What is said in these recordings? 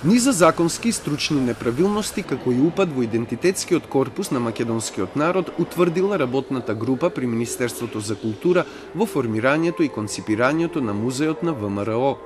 Низа законски и стручни неправилности, како и упад во идентитетскиот корпус на македонскиот народ, утврдила работната група при Министерството за култура во формирањето и конципирањето на музеот на ВМРО.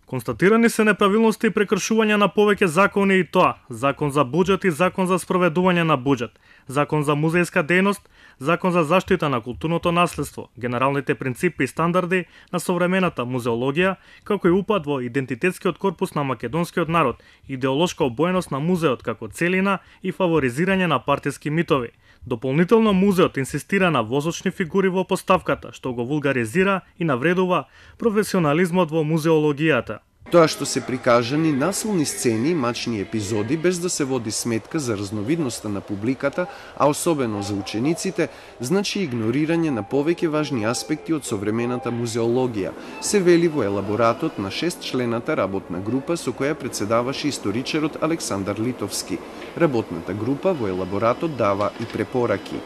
Констатирани се неправилности и прекршувања на повеќе закони и тоа: Закон за буџет и Закон за спроведување на буџет, Закон за музејска дејност, Закон за заштита на културното наследство, генералните принципи и стандарди на современата музеологија, како и упад во идентитетскиот корпус на македонскиот народ, идеолошка обоеност на музеот како целина и фаворизирање на партиски митови. Дополнително музеот инсистира на возочни фигури во поставката, што го вулгаризира и навредува професионализмот во музеологијата. Тоа што се прикажани насилни сцени и мачни епизоди без да се води сметка за разновидноста на публиката, а особено за учениците, значи игнорирање на повеќе важни аспекти од современата музеологија, се вели во елаборатот на 6-члената работна група со која председаваше историчарот Александар Литовски. Работната група во елаборатот дава и препораки.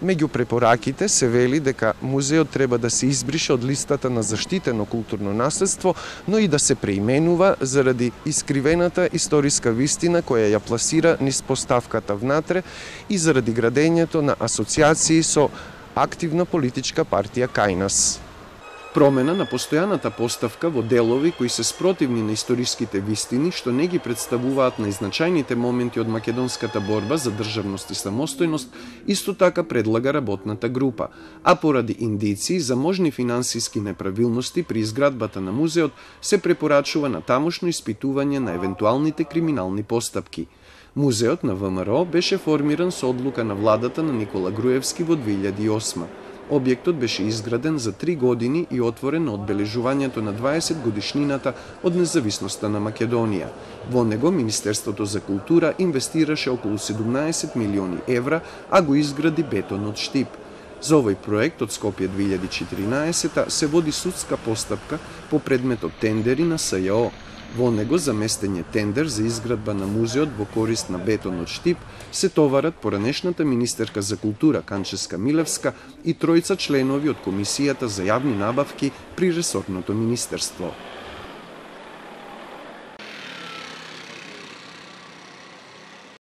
Меѓу препораките се вели дека музеот треба да се избрише од листата на заштитено културно наследство, но и да се преименува заради искривената историска вистина која ја пласира низ поставката внатре и заради градењето на асоциации со активна политичка партија кај нас. Промена на постојаната поставка во делови кои се спротивни на историските вистини, што не ги представуваат најзначајните моменти од македонската борба за државност и самостојност, исто така предлага работната група, а поради индици за можни финансиски неправилности при изградбата на музеот се препорачува на тамошно испитување на евентуалните криминални постапки. Музеот на ВМРО беше формиран со одлука на владата на Никола Груевски во 2008. Објектот беше изграден за 3 години и отворен на одбележувањето на 20 годишнината од независноста на Македонија. Во него Министерството за култура инвестираше околу 17 милиони евра, а го изгради бетон од штип. За овој проект од Скопје 2014 се води судска постапка по предметот тендери на СЈО. Во него за местење тендер за изградба на музеот во корист на бетон од штип се товарат поранешната министерка за култура Канческа Милевска и тројца членови од Комисијата за јавни набавки при ресорното министерство.